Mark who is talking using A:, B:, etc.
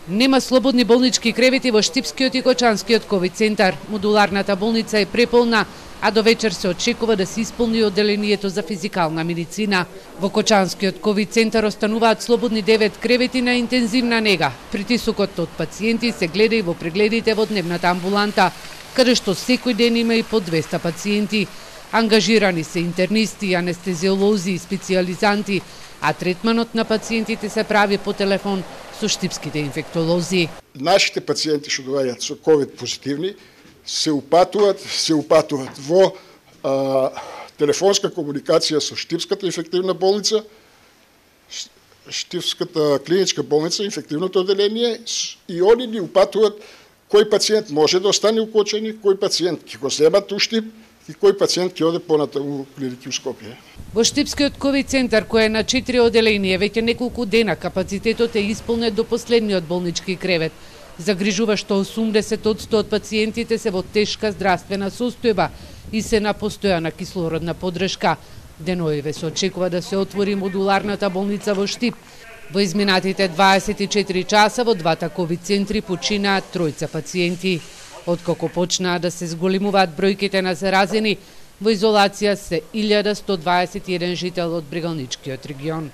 A: Нема слободни болнички кревети во Штипскиот и Кочанскиот ковид центар. Модуларната болница е преполна, а до вечер се очекува да се исполни одделението за физикална медицина. Во Кочанскиот ковид центар остануваат слободни 9 кревети на интензивна нега. Притисокот од пациенти се гледа и во прегледите во дневната амбуланта, каде што секој ден има и по 200 пациенти. Ангажирани се интернисти, анестезиолози и специјализанти, а третманот на пациентите се прави по телефон со штипските инфектолози.
B: Нашите пациенти што доаѓаат со ковид позитивни се упатуваат во телефонска комуникација со Штипската инфективна болница, Штипската клиничка болница, инфективното одделение, и они ни упатуваат кој пациент може да остане укочени, кој пациент ќе го земат у Штип и кој пациент ќе оде понатаму у клиники у Скопје.
A: Во Штипскиот ковид центар, кој е на 4 одделение, веќе неколку дена капацитетот е исполнет до последниот болнички кревет. Загрижува што 80% од пациентите се во тешка здравствена состојба и се на постојана кислородна поддршка. Деноиве се очекува да се отвори модуларната болница во Штип. Во изминатите 24 часа во двата ковид центри починаат 3 пациенти. Откако почнаа да се зголемуваат бројките на заразени, во изолација се 1121 жител од Брегалничкиот регион.